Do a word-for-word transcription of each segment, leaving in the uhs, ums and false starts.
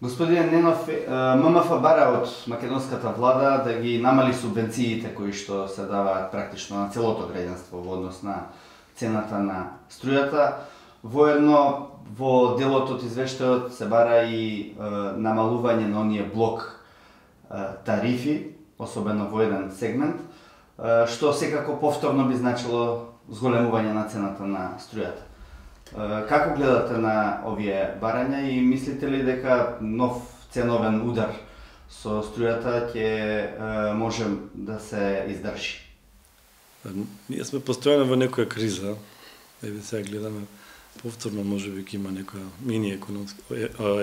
Господин Ненов, ММФ бара од македонската влада да ги намали субвенциите кои што се даваат практично на целото граѓанство во однос на цената на струјата. Воедно во делот од извештајот се бара и намалување на оние блок тарифи, особено во еден сегмент, што секако повторно би значило зголемување на цената на струјата. Како гледате на овие барања и мислите ли дека нов ценовен удар со струјата ќе може да се издржи? Ние сме постојано во некоја криза. Еве сега гледаме повторно можеби ќе има некоја мини економска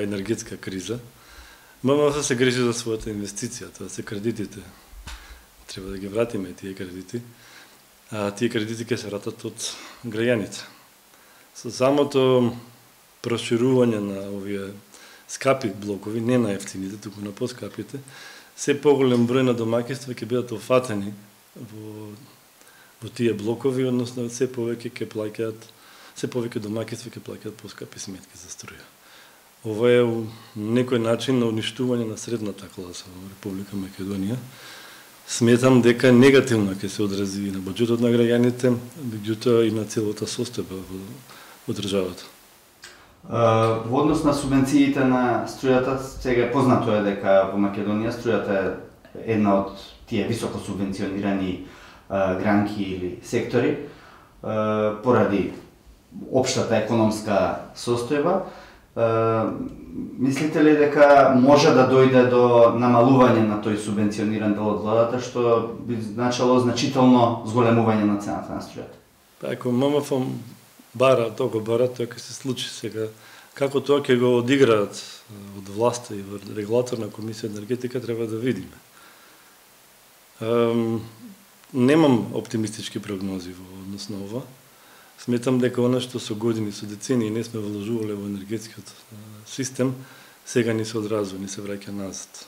енергетска криза. ММФ се грижи за својата инвестиција, тоа се кредитите. Треба да ги вратиме тие кредити. А тие кредити ќе се вратат од граѓаните. Со самото проширување на овие скапи блокови, не на ефтините, туку на поскапите, се поголем број на домаќинства ќе бидат офатени во во тие блокови, односно се повеќе ќе плаќаат, се повеќе домаќинства ќе плаќаат поскапи сметки за струја. Ова е некој начин на уништување на средната класа во Република Македонија. Сметам дека негативно ќе се одрази и на буџетот на граѓаните, меѓутоа и на целата состојба во, во државата. Во однос на субвенциите на струјата, сега е познато е дека во Македонија струјата е една од тие високо субвенционирани гранки или сектори поради општата економска состојба. Мислите ли дека може да дојде до намалување на тој субвенциониран дел од владата, што би значило значително зголемување на цената на струјата? Па ако ММФ бара, тоа го бара, тоа ќе се случи сега. Како тоа ќе го одиграат од власта и во регулаторна комисија енергетика треба да видиме. Немам оптимистички прогнози во однос на ова. Сметам дека она што со години, со децении не сме вложувале во енергетскиот систем, сега ни се одразува, ни се враќа назад.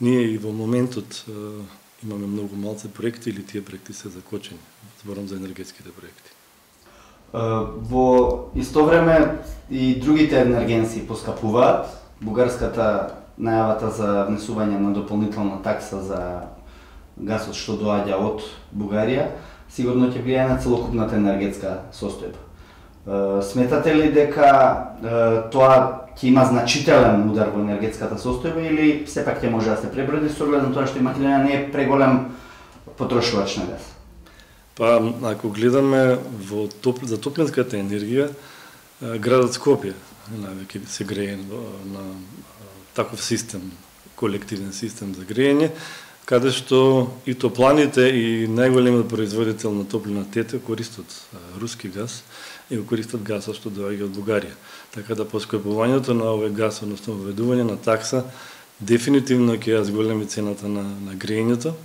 Ние и во моментот имаме многу малце проекти или тие проекти се закочени. Зборам за енергетските проекти. Во исто време и другите енергенси поскапуваат. Бугарската најавата за внесување на дополнителна такса за гасот што доаѓа од Бугарија сигурно ќе влијае на целокупната енергетска состојба. Сметате ли дека тоа ќе има значителен удар во енергетската состојба или сепак ќе може да се преброди со оглед на тоа што и Македонија не е преголем потрошувач на газ? Па, ако гледаме во топ, за топлинската енергија, градот Скопје највеќе се грее на таков систем, колективен систем за грејење, каде што и топланите и најголемиот производител на топлина ТЕТ користат руски газ и го користат гасот што доаѓа од Бугарија. Така да поскапувањето на овој газ, односно введување на такса, дефинитивно ќе ја зголеми цената на, на грејењето.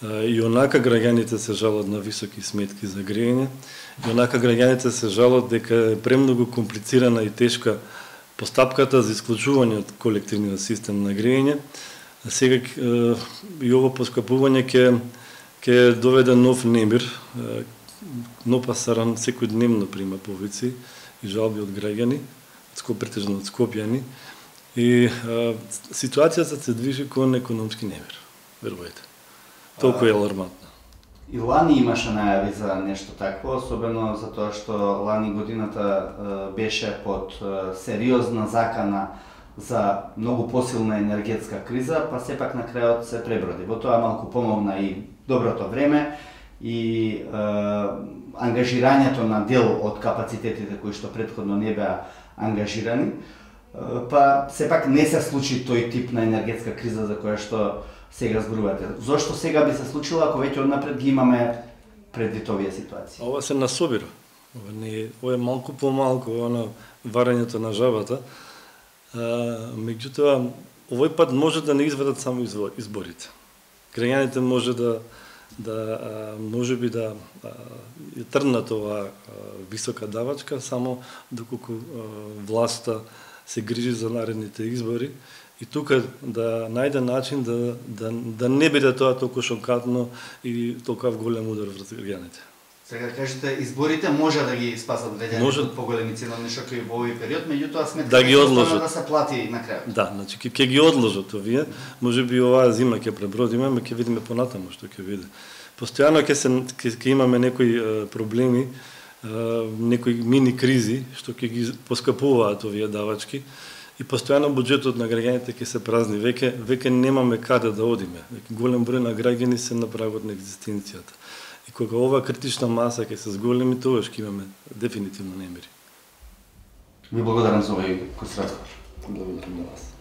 И онака граѓаните се жалат на високи сметки за грејење, и онака граѓаните се жалат дека е премногу комплицирана и тешка постапката за исклучување од колективниот систем на грејење. Сега и ово поскапување ќе ќе доведе нов немир. Нопа Саран секојдневно прима повици и жалби од граѓани, претежно од скопјани, и а, ситуацијата се движи кон економски немир, верувајте. Толку е алармантна. И лани имаше најави за нешто такво, особено за тоа што лани годината беше под сериозна закана за многу посилна енергетска криза, па сепак на крајот се преброди. Во тоа малку помогна и доброто време и е, ангажирањето на дел од капацитетите кои што претходно не беа ангажирани, е, па сепак не се случи тој тип на енергетска криза за која што сега зборувате. Зошто сега би се случило ако веќе однапред ги имаме предвид овие ситуации? Ова се насобира. Ова не е, ова е малку помалку она варењето на жабата. А, меѓутоа, овој пат може да не изведат само изборите. Граѓаните може да да може би да ја трнат оваа висока давачка само доколку власта се грижи за наредните избори и тука да најде начин да да да не биде тоа толку шокатно и толку голем удар врз граѓаните. Сега да кажете, изборите може да ги спасат граѓаните Може... од поголеми ценовни шокови во овој период, меѓутоа сметка да ги одложат, да се плати на крајот. Да, значи ќе ќе ги одложат овие, можеби оваа зима ќе пребродиме, ме ќе видиме понатаму што ќе биде. Постојано ќе се ќе, ќе имаме некои е, проблеми, е, некои мини кризи што ќе ги поскапуваат овие давачки и постојано буџетот на граѓаните ќе се празни. Веќе веќе немаме каде да одиме. Голем број на граѓани се на прагот на екзистенцијата. И кога ова критична маса ќе се зголеми, тогаш ќе имаме дефинитивно немири. Ви благодарам за овој разговор. Благодарам на вас.